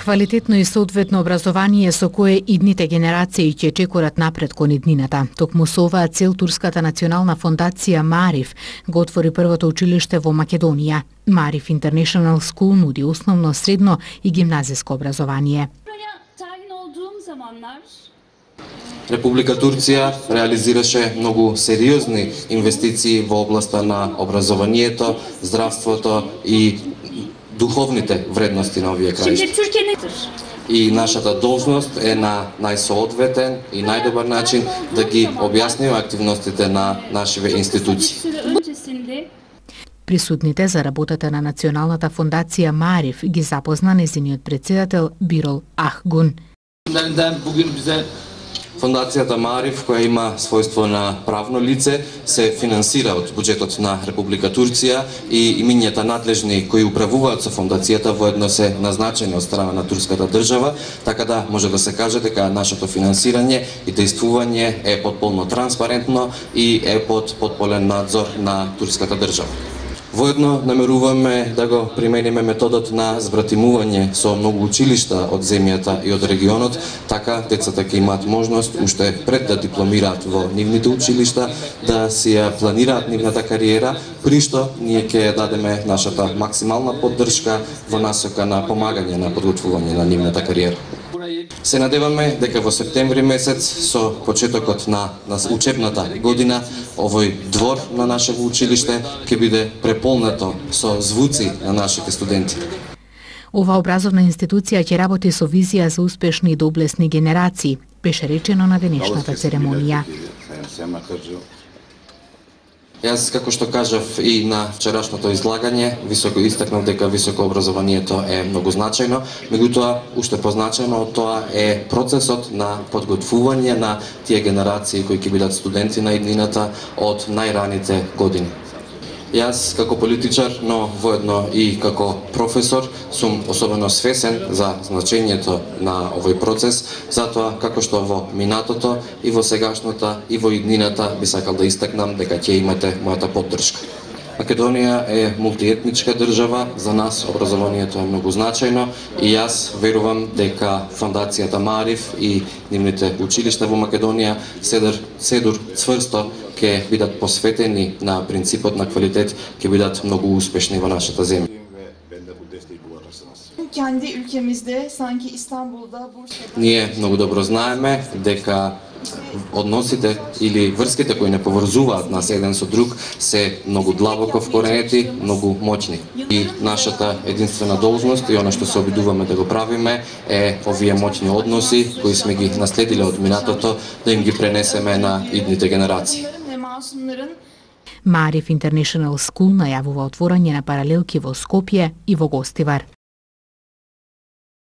Квалитетно и соодветно образование со кое идните генерации ќе чекорат напред кон иднината. Токму со оваа цел Турската национална фондација Мариф го отвори првото училиште во Македонија. Мариф International School нуди основно, средно и гимназиско образование. Република Турција реализираше многу сериозни инвестиции во областа на образованието, здравството и духовните вредности на овие краишта. И нашата должност е на најсоодветен и најдобар начин да ги објасниме активностите на нашите институции. Присутните за работата на Националната фондација Мариф ги запозна нејзиниот председател Бирол Ахгун. Фондацијата Мариф, која има својство на правно лице, се финансира од буџетот на Република Турција и имињата надлежни кои управуваат со фондацијата воедно се назначени од страна на турската држава, така да може да се каже дека нашето финансирање и действување е потполно транспарентно и е под потполен надзор на турската држава. Воедно намеруваме да го примениме методот на збратимување со многу училишта од земјата и од регионот, така децата ќе имаат можност уште пред да дипломираат во нивните училишта да си ја планираат нивната кариера, при што ние ќе дадеме нашата максимална поддршка во насока на помагање на подготвување на нивната кариера. Се надеваме дека во септември месец со почетокот на учебната година овој двор на нашето училиште ќе биде преполнето со звуци на нашите студенти. Ова образовна институција ќе работи со визија за успешни и доблесни генерации, беше речено на денешната церемонија. Јас, како што кажав и на вчерашното излагање, високо истакнав дека високо образованието е многу значајно, меѓутоа уште позначајно од тоа е процесот на подготвување на тие генерации кои ќе бидат студенти на иднината од најраните години. Јас како политичар, но воедно и како професор, сум особено свесен за значењето на овој процес, затоа како што во минатото и во сегашната и во иднината би сакал да истакнам дека ќе имате мојата поддршка. Македонија е мултиетничка држава, за нас образованието е многу значајно и јас верувам дека фондацијата Мариф и нивните училишта во Македонија седур цврсто ќе бидат посветени на принципот на квалитет, ќе бидат многу успешни во нашата земја. Ние многу добро знаеме дека односите или врските кои не поврзуваат нас еден со друг се многу длабоко вкоренети, многу моќни. И нашата единствена должност и она што се обидуваме да го правиме е овие моќни односи кои сме ги наследиле од минатото да им ги пренесеме на идните генерации. Мариф International School најавува отворање на паралелки во Скопје и во Гостивар.